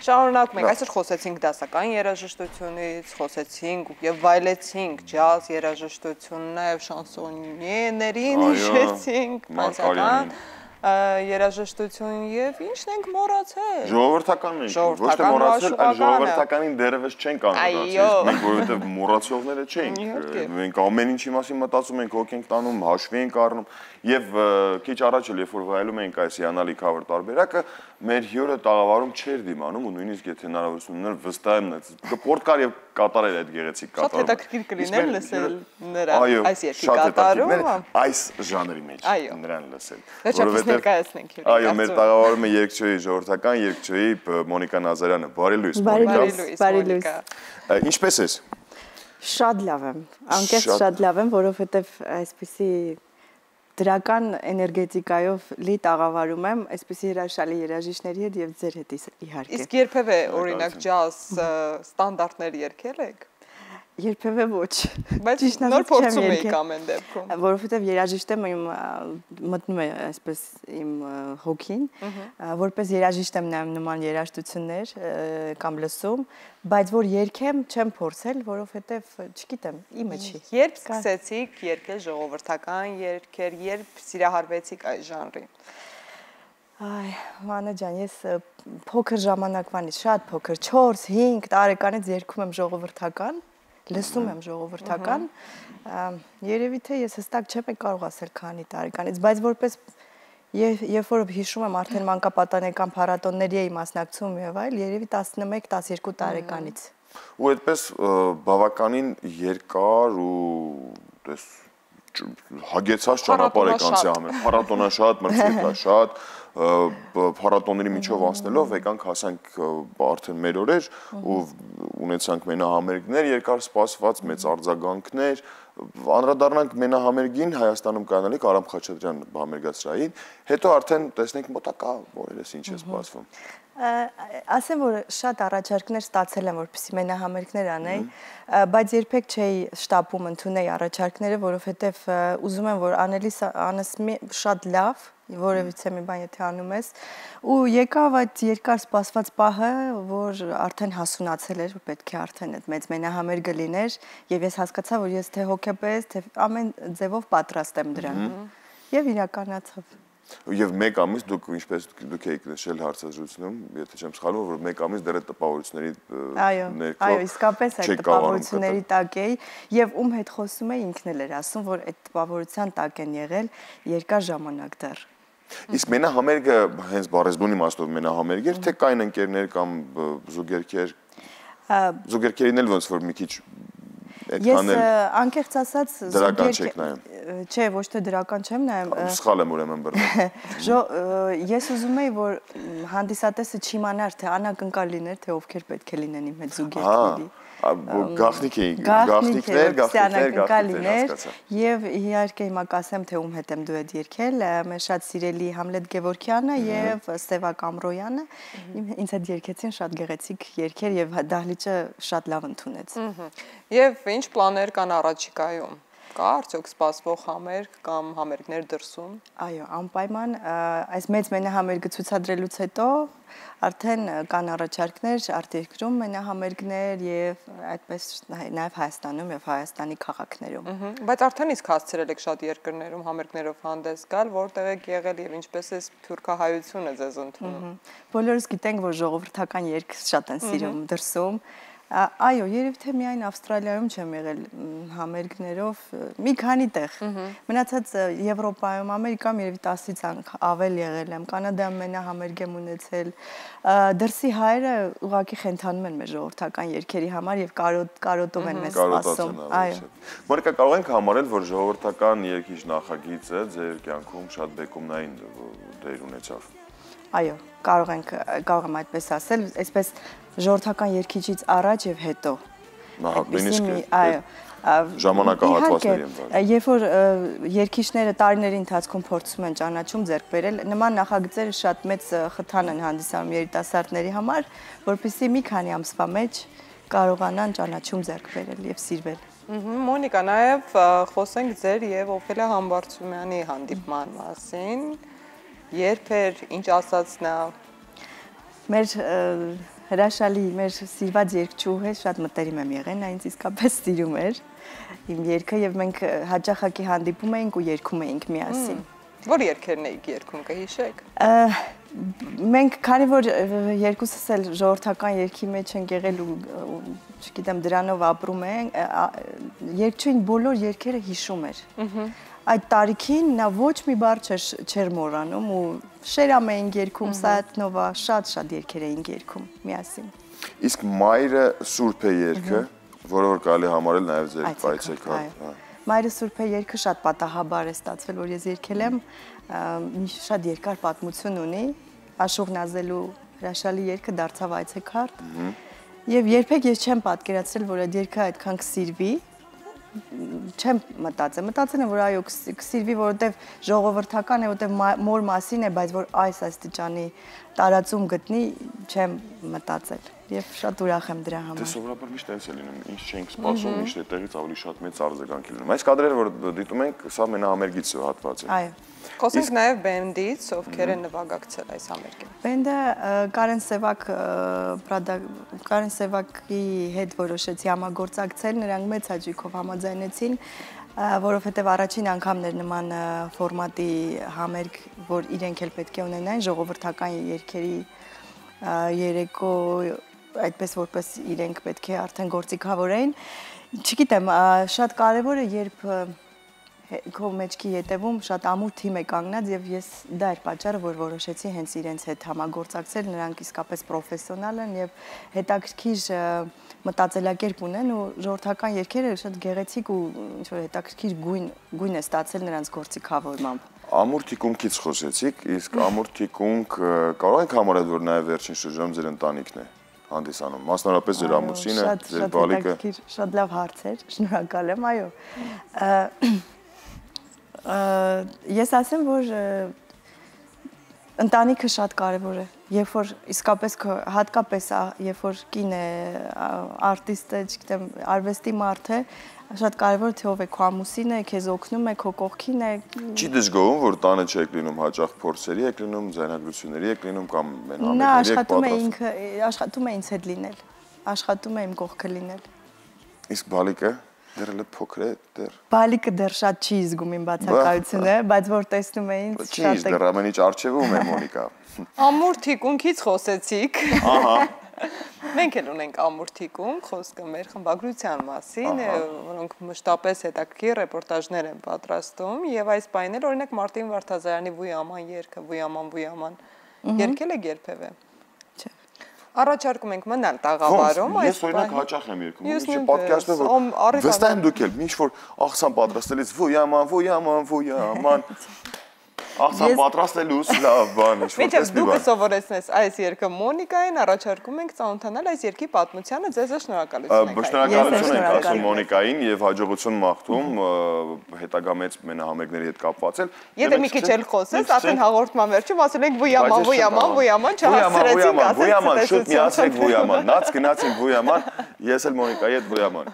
Շարունակում ենք, այսօր խոսեցինք դասական երաժշտությունից, խոսեցինք եւ վայելեցինք ջազ երաժշտությունն, նաեւ շանսոնիեներին հիշեցինք, բացական երաժշտություն եւ ինչն ենք մոռացել։ Ժողովրդականն ենք, ոչ թե մոռացել, այլ ժողովրդականին դեռևս չենք անդրադարձել, մենք որովհետեւ մոռացողները չենք։ Մենք ամեն ինչի մասին մտածում ենք, հոգ ենք տանում, հաշվի ենք առնում եւ քիչ առաջ էլ երբ որ վայելում ենք այս հիանալի cover տարբերակը, մեր հյուրը տաղավարում չէր դիմանում ու նույնիսկ եթե հնարավորություն ուներ վստահ եմ կպորտկար եւ կատարել այդ գեղեցիկ կատարումը։ Շատ հետաքրքիր կլիներ լսել նրա այս երգի կատարումը այս ժանրի մեջ նրան լսել։ Որովհետեւ ներկայացնենք հյուրին։ Այո, մեր տաղավարում է երգչուհի ժողովրդական երգչուհի Մոնիկա Նազարյանը։ Բարի լույս, Մոնիկա։ Ինչպե՞ս ես։ Շատ լավ եմ, անկեղծ շատ լավ եմ, որովհետեւ այսպիսի դրական էներգետիկայով լի տաղավարում եմ, այսպիսի հրաշալի երաժիշտների հետ եւ ձեր հետ իհարկե։ Իսկ երբևէ օրինակ ջազ ստանդարտներ երգել եք։ Երբևէ ոչ։ Բայց նոր փորձում եք ամեն դեպքում։ Որովհետև երաժիշտը մտնում է այսպես իմ հոգին, որպես երաժիշտ եմ նայում նման երաժշտություններ կամ լսում, բայց որ երգեմ չեմ փորձել, որովհետև չգիտեմ, իմը չի։ Երբ սկսեցիք երգել ժողովրդական երգեր, երբ սիրահարվեցիք այս ժանրին։ Այ, Մանա ջան, ես փոքր ժամանակվանից, շատ փոքր, 4-5 տարեկանից երգում եմ ժողովրդական, լսում եմ ժողովրդական, երևի թե ես հստակ չեմ կարող ասել քանի տարեկանից, բայց որպես երբ որ հիշում եմ արդեն մանկապատանեկան փառատոնների էի մասնակցում եւ այլ, երևի 11-12 տարեկանից։ Ու այդպես բավականին երկար ու հագեցած ճանապարհ եք անցի համը, փառատոնաշատ, մրցանակաշատ, փառատոնների միջով անցնելով եկանք հասանք արդեն մեր օրեր ու ունեցանք մենահամերգներ, երկար սպասված մեծ արձագանքներ, անդրադառնանք մենահամերգին Հայաստանում կանալիք Արամ Խաչատրյան համերգացրային, հետո արդեն տեսնենք մոտակա օրերս ինչ է սպասվում։ Ասեմ, որ շատ առաջարկներ ստացել եմ, որպեսզի մենահամերգներ անեի, բայց երբեք չէի շտապում ընդունել առաջարկները, որովհետև ուզում եմ, որ անես շատ լավ, որևիցե մի բան եթե անում ես, ու եկավ այդ երկար սպասված պահը, որ արդեն հասունացել էր, որ պետք է արդեն այդ մեծ մենահամերգը լիներ, եւ ես հասկացա, որ ես թե հոգեպես, թե ամեն ձևով պատրաստ եմ դրան, եւ իրականացավ։ Եվ մեկ ամիս դուք ինչպես դուք եք նշել հարցազրույցում, եթե չեմ սխալվում, որ մեկ ամիս դեռ տպավորությունների ներքո այո, իսկապես այդ տպավորությունների տակ էի եւ ում հետ խոսում էի ինքն էլ էր ասում, որ այդ տպավորության տակ են եղել երկար ժամանակ դեռ։ Իսկ մենահամերգը հենց բառեզբուն իմաստով մենահամերգ էր, թե կային ընկերներ կամ զուգերքեր։ Զուգերքերին էլ ոնց որ մի քիչ Ես անկեղծ ասած դրական չեք նայում։ Չէ, ոչ թե դրական չեմ նայում։ Սխալ եմ ուրեմն բռնում։ Ես ուզում եի, որ հանդիսատեսը չիմանար, թե անակնկալ լիներ, թե ովքեր պետք է լինեն իմ հետ զուգերքների։ Գաղտնիքներ, եւ իհարկե հիմա կասեմ, թե ում հետ եմ դու հետ երգել, մեր շատ սիրելի Համլետ Գևորգյանը եւ Սևակ Ամրոյանը ինձ հետ երգեցին շատ գեղեցիկ երգեր եւ դահլիճը շատ լավ ընդունեց։ Եվ ինչ պլաններ կան առաջիկայում։ Կա արդյոք սպասվող համերգ կամ համերգներ դրսում։ Այո, անպայման այս մեծ մենահամերգը ցուցադրելուց հետո արդեն կան առաջարկներ արտերկրում մենահամերգներ եւ այդպես նաեւ Հայաստանում եւ Հայաստանի քաղաքներում։ Բայց արդեն իսկ հասցրել եք շատ երկրներում համերգներով հանդես գալ, որտեղ եք եղել եւ ինչպես է թուրքահայությունը ձեզ ընդունում։ Բոլորս գիտենք, որ ժողովրդական երգ շատ են սիրում դրսում։ Այո, երևի թե միայն Ավստրալիայում չեմ եղել համերգներով, մի քանի տեղ։ Մնացած Եվրոպայում, Ամերիկայում երևի 10-ից ավել եղել եմ, Կանադայում մենահամերգ եմ ունեցել։ Դրսի հայերը ուղղակի խենթանում են մեր ժողովրդական երգերի համար եւ կարոտով են մեզ սպասում։ Այո։ Մոնիկա, կարող ենք համարել, որ ժողովրդական երգիչ նախագիծը ձեր կյանքում շատ բեկումնային դեր ունեցավ։ Այո, կարող եմ այդպես ասել, այսպես ժողովրդական երգիչից առաջ եւ հետո։ Այո, ժամանակահատվածների եմ դարձել։ Երբ որ երգիչները տարիների ընթացքում փորձում են ճանաչում ձեռք բերել, նման նախագծերը շատ մեծ խթան են հանդիսանում երիտասարդների համար, որպեսզի մի քանի ամսվա մեջ կարողանան ճանաչում ձեռք բերել եւ սիրվել։ Մոնիկա, նաեւ խոսենք ձեր եւ Օֆելիա Համբարձումյանի հանդիպման մասին։ Երբ էր, ինչ ասաց նա։ Մեր հրաշալի մեր սիրված երգչուհը շատ մտերիմ եմ եղել, նա ինձ իսկապես սիրում էր իմ երգը եւ մենք հաճախակի հանդիպում էինք ու երգում էինք միասին։ Որ երգերն էիք երգում, կհիշեք։ Մենք քանի որ երկուսս էլ ժողովրդական երգի մեջ ենք եղել ու չգիտեմ դրանով ապրում ենք, երգչուհին բոլոր երգերը հիշում էր։ Այդ տարիքին նա ոչ մի բառ չէր մոռանում ու շերամ էինք երգում, Սայաթնովա, շատ երգեր էինք երգում միասին։ Իսկ Մայրը Սուրբ է երգը, որը որ կարելի համարել նաև ձեր պայծեքարդ։ Մայրը Սուրբ է երգը շատ պատահաբար է ստացվել, որ ես երգել եմ, շատ երկար պատմություն ունի, Աշուղ Նազելու հրաշալի երգը դարձավ այցեքարդ։ Եվ երբեք ես չեմ պատկերացրել, որ այդ երգը այդքան կսիրվի, չեմ մտածել եմ, որ այո կսիրվի, որովհետև ժողովրդական է, որովհետև մոր մասին է, բայց որ այս աստիճանի տարածում գտնի, չեմ մտածել եւ շատ ուրախ եմ դրա համար։ Դե սովորաբար միշտ այնպես է լինում, ինչ չենք սպասում, միշտ այդտեղից ավելի շատ մեծ արձագանք է լինում։ Այս կադրերը, որ դիտում ենք, սա մենահամերգից հատված է։ Այո։ Խոսենք նաև բենդից, ովքեր են նվագակցել այս համերգին։ Բենդը Կարեն Սևակի հետ որոշեցի համագործակցել, նրանք մեծ հաճույքով համաձայնեցին, որովհետև առաջին անգամն էր նման ֆորմատի համերգ, որ իրենք էլ պետք է ունենային ժողովրդական երգերի երեկո, այդպես որպես իրենք պետք է արդեն գործիքավորեին։ Չգիտեմ, շատ կարևոր է, երբ քո մեջքի ետևում շատ ամուր թիմ է կանգնած եւ ես դա էր պատճառը, որ որոշեցի հենց իրենց հետ համագործակցել, նրանք իսկապես պրոֆեսիոնալ են եւ հետաքրքիր մտածելակերպ ունեն ու ժողովրդական երգերը շատ գեղեցիկ ու ինչ որ հետաքրքիր գույն է ստացել նրանց գործիքավորմամբ։ Ամուր թիկունքից խոսեցիք, իսկ ամուր թիկունք կարող ենք համարել, որ նաեւ վերջին շրջանում ձեր ընտանիքն է հանդիսանում, մասնավորապես ձեր ամուսինը, ձեր բալիկը։ Շատ լավ հարց էր, շնորհակալ եմ, այո։ Ես ասեմ, որ ընտանիքը շատ կարևոր է, երբ որ իսկապես հատկապես երբ որ կին է, արտիստ է, չգիտեմ, արվեստի մարդ է, շատ կարևոր թե ով է քո ամուսինը, քեզ օգնում է, քո կողքին է։ Չի դժգոհում, որ տանը չեք լինում, հաճախ փորձերի եք լինում, ձայնագրությունների եք լինում կամ նա աշխատում է ինձ հետ լինել, աշխատում է իմ կողքը լինել։ Իսկ բալիկը դեռ էլ փոքր է, դեռ։ Բալիկը դեռ շատ չի զգում իմ բացակայությունը, բայց որ տեսնում է ինձ շատ է։ Չի, դեռ ամեն ինչ արժևում է Մոնիկա։ Ամուր թիկունքից խոսեցիք։ Ահա։ Մենք էլ ունենք ամուր թիկունք, խոսքը մեր խմբագրության մասին, որոնք մշտապես հետաքրքիր ռեպորտաժներ են պատրաստում եւ այս պահին էլ օրինակ Մարտին Վարդազարյանի Վույաման երգը, Վույաման, երգել եք երբևէ։ Առաջարկում ենք մնալ տաղավարում, այս օրինակ հաճախ եմ երգում, ինչի պատկերացնում որ վստահ եմ դուք էլ, ինչ որ աղցան պատրաստելից Վույաման աղցան պատրաստելուց լավ բան, ինչ որ տեսնի բան։ Դուք սովորեցնես այս երգը Մոնիկային, առաջարկում ենք ծանոթանալ այս երգի պատմությանը, ձեզ շնորհակալություն ենք։ Շնորհակալություն ենք ասում Մոնիկային եւ հաջողություն մաղթում հետագա մեծ մենահամերգների հետ կապվածել։ Եթե մի քիչ էլ խոսես, արդեն հաղորդման վերջում ասել ենք Վույաման, չհասցրեցինք ասել։ Վույաման, շուտ միացեք Վույաման, նաց գնացինք Վույաման, ես էլ Մոնիկայի հետ Վույաման։